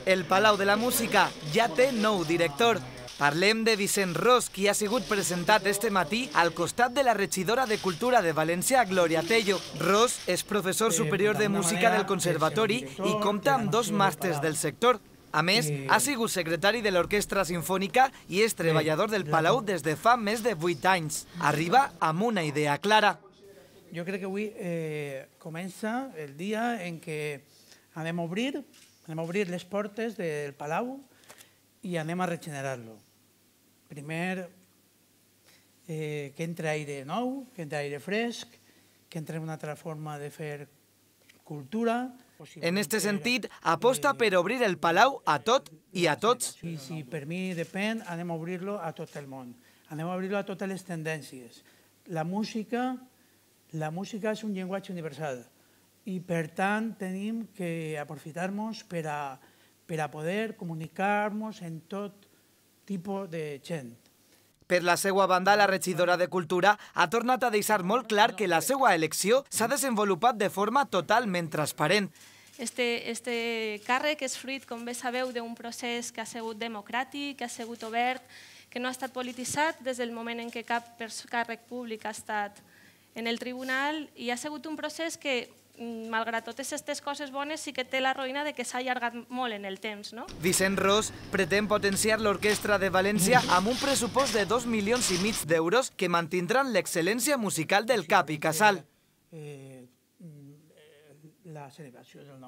El Palau de la Música ja té nou director. Parlem de Vicent Ros, qui ha sigut presentat este matí al costat de la regidora de Cultura de València, Gloria Tello. Ros és professor superior de música del Conservatori i compta amb 2 màsters del sector. A més, ha sigut secretari de l'Orquestra Simfònica i és treballador del Palau des de fa més de 8 anys. Arriba amb una idea clara. Jo crec que avui comença el dia en què anem a obrir les portes del Palau i anem a regenerar-lo. Primer, que entre aire nou, que entre aire fresc, que entre una altra forma de fer cultura. En este sentit, aposta per obrir el Palau a tot i a tots. Si per mi depèn, anem a obrir-lo a tot el món. Anem a obrir-lo a totes les tendències. La música és un llenguatge universal i, per tant, tenim que aprofitar-nos per a poder comunicar-nos en tot tipus de gent. Per la seva banda, la regidora de Cultura ha tornat a deixar molt clar que la seva elecció s'ha desenvolupat de forma totalment transparent. Este càrrec és fruit, com bé sabeu, d'un procés que ha sigut democràtic, que ha sigut obert, que no ha estat polititzat des del moment en què cap càrrec públic ha estat en el tribunal, i ha sigut un procés que, malgrat totes aquestes coses bones, sí que té la ruïna de que s'ha allargat molt en el temps. Vicent Ros pretén potenciar l'Orquestra de València amb un pressupost de 2,5 milions d'euros que mantindran l'excel·lència musical del cap i casal. La celebració del